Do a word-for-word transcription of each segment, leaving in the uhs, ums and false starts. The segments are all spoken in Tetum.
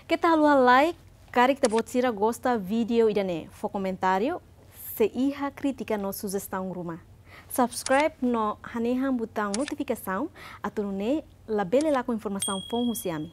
Keta haluha like, karik ita-boot sira gosta vídeo ida-ne'e, fó komentáriu, se iha krítika no sujestaun ruma. Subscribe no hanehan butaun notifikasaun, atu nune'e labele lakon informasaun foun husi ami.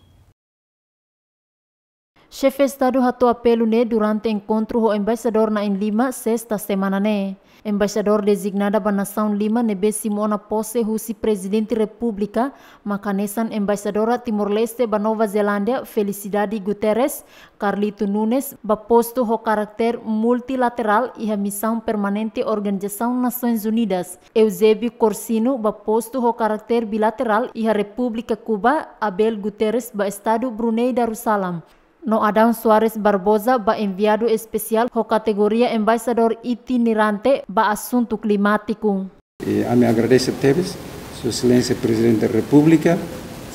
Xefe Estadu hato'o apelu ne'e durante enkontru ho embaixadór na'in lima, sesta semana ne'e. Embaixadór dezignada ba nasaun lima ne'ebé simu ona pose husi Prezidente Repúblika, mak hanesan embaixadora Timor-Leste ba Nova Zelándia, Felicidade Guterres, Carlito Nunes, ba postu ho karakter multilaterál iha Misaun Permanente Organizasaun Nasoins Unidas, Eusébio Corsino, ba postu ho karakter bilaterál iha Repúblika Kuba, Abel Guterres, ba Estadu Brunei Darussalam, no Adão Soares Barbosa, ba enviadu espesiál ho kategoria embaixadór itinerante ba asuntu klimátiku. E ami agradese tebes Sua Exelénsia Prezidente da Repúblika,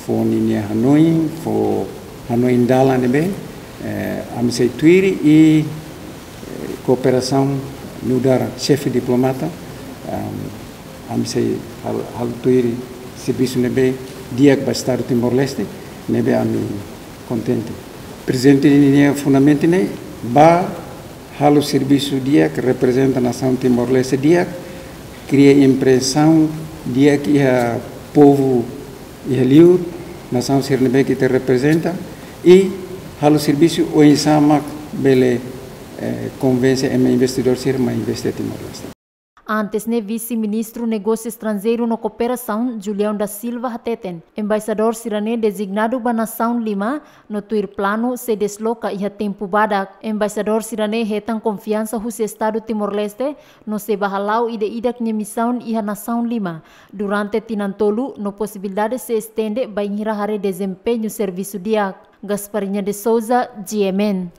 fó ninia hanoin, fó hanoin dalan ne'ebé, eh, ami sei tuir i, eh, kooperasaun nu'udar xefe diplomata, am, ami sei hal-, halo tuir servisu ne'ebé di'ak ba Estadu Timor-Leste, ne'ebé ami kontente. Prezidente ninia fundamentu ne'e ba halo servisu di'ak, reprezenta nasaun Timor-Leste di'ak, kria impresaun di'ak iha povu iha liur, nasaun sira ne'ebé ke ita reprezenta, i halo servisu oinsá mak bele, eh, konvense ema investidór sira mai investe Timor-Leste. Antes ne'e, Vise-Ministru Negósiu Estranjeiru no Kooperasaun, Julião da Silva, hateten embaixadór sira-ne'e dezignadu ba nasaun lima, no tuir planu sei desloka iha tempu badak. Embaixadór sira-ne'e hetan konfiansa husi Estadu Timor-Leste, no sei bá hala'o ida-idak nia misaun iha nasaun lima durante tinan tolu, no posibilidade sei estende bainhira haree dezempeñu servisu di'ak. Gasparinha de Souza, G M N.